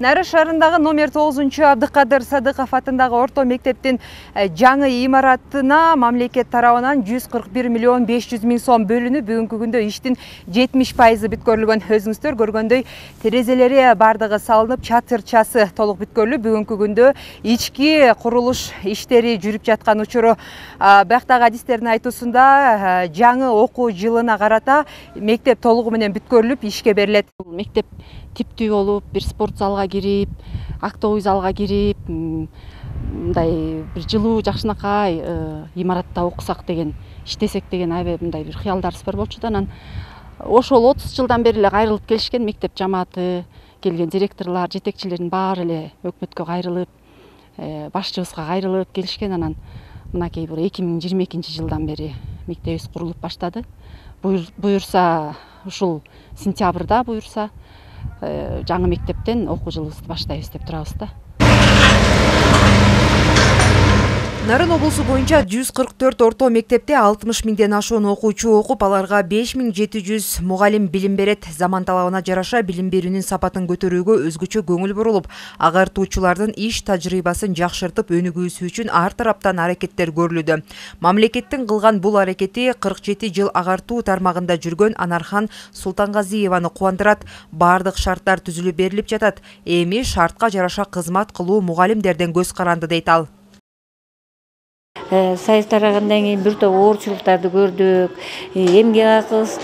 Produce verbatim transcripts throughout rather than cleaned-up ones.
Нары шаарындагы номер тогузунчу Абдыкадыр Садыков атындагы орто мектептин жаңы имаратына мамлекет тарабынан жүз кырк бир миллион беш жүз миң сом бөлүнүп, бүгүнкү күндө иштин жетимиш пайызы бүткөрүлгөн. Өзүңүздөр көргөндөй терезелери бардыгы салынып, чатырчасы толук бүткөрүлүп, бүгүнкү күндө ички курулуш иштери жүрүп жаткан учуру. Бактагы адистердин айтуусунда жаңы окуу жылына карата мектеп толугу менен бүткөрүлүп, ишке берилет. Мектеп типтүү болуп, бир спорт залга кирип, актовый залга кирип, мындай бир жылуу жакшынакай имаратта окусак деген, иштесек деген аябай мындай бир кыялдарыбыз бар болчу да. Анан ошол отуз жылдан бери эле кайрылып келишкен мектеп жамааты, келген директорлор, жетекчилердин баары эле өкмөткө кайрылып, башчыбызга кайрылып келишкен. Анан мынакей бир эки миң жыйырма экинчи жылдан бери мектебибиз курулуп баштады. Буюрса ушул сентябрда буюрса жаңы мектептен окуу жылыбызды баштайбыз деп турабыз да. Нарын облусу боюнча жүз кырк төрт орто мектепте алтымыш миңден ашуун окуучу окуп, аларга беш миң жети жүз мугалим билим берет. Заман талабына жараша билим берүүнүн сапатын көтөрүүгө өзгөчө көңүл бурулуп, агартуучулардын иш тажрыйбасын жакшыртып өнүгүүсү үчүн ар тараптан аракеттер көрүлүүдө. Мамлекеттин кылган бул аракети кырк жети жыл агартуу тармагында жүргөн Анархан Султангазиеваны кубандырат. Бардык шарттар түзүлүп берилип жатат. Эми шартка жараша кызмат кылуу мугалимдерден көз каранды, дейт ал. Сайыс тарагандан кийин бир топ оорчулуктарды көрдүк. Эмгек акыбыз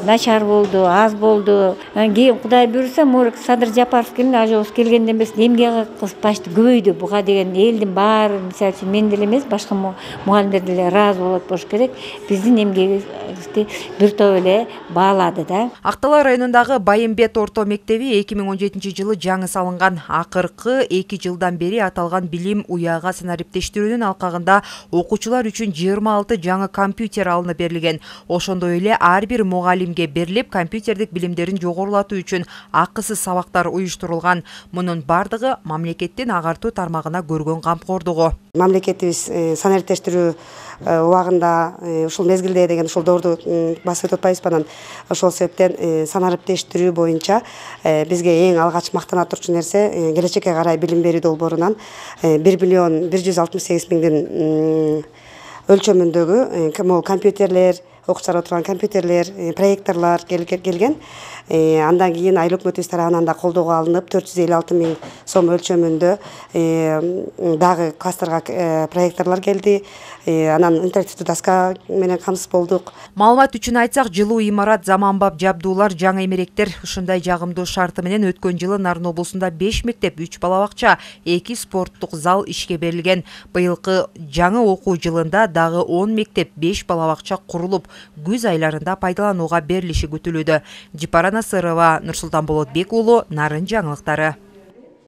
начар болду, аз болду. Кийин Кудай буйрса, Морик Садыр Жапаров келген, ажобуз келгенден бери эмгек акыбыз почти көбөйдү. Буга деген элдин баары, мисалы үчүн мен деле эмес, башка мугалимдер деле ыраазы болот болуш керек. Биздин эмгегибизди бир топ эле баалады да. Актала районундагы Байымбет орто мектеби эки миң он жетинчи жылы жаңы салынган. Акыркы эки жылдан бери аталган билим уяга санариптештирүүнүн алкагында окуучулар үчүн жыйырма алты жаңы компьютер алынып берилген. Ошондой эле ар бир мугалимге берилип, компьютердик билимдерин жогорулатуу үчүн акысыз сабактар уюштурулган. Мунун бардыгы мамлекеттин агартуу тармагына көргөн камкордугу. Мамлекетибиз санариптештирүү убагында ушул мезгилде деген ушул доорду басып өтүп атпайбызбы? Анан ошол себептен санариптештирүү боюнча бизге эң алгач мактана турчу нерсе келечекке карай билим берүү долбоорунан бир миллион бир жүз алтымыш сегиз миңдин өлчөмүндөгү компьютерлер, окуучулар отурган компьютерлер, проекторлор келген. Андан кийин айыл өкмөтүбүз тарабынан да колдоого алынып, төрт жүз элүү алты миң сом өлчөмүндө дагы кластерга проекторлор келди. Анан интерактивдүү доска менен камсыз болдук. Маалымат үчүн айтсак, жылуу имарат, заманбап жабдуулар, жаңы эмеректер ушундай жагымдуу шарты менен өткөн жылы Нарын облусунда беш мектеп, үч бала бакча, эки спорттук зал ишке берилген. Быйылкы жаңы окуу жылында дагы он мектеп, беш бала бакча курулуп, күз айларында пайдаланууга берилиши күтүлүүдө. Жипара Насырова, Нурсултан Болотбек уулу, Нарын жаңылыктары.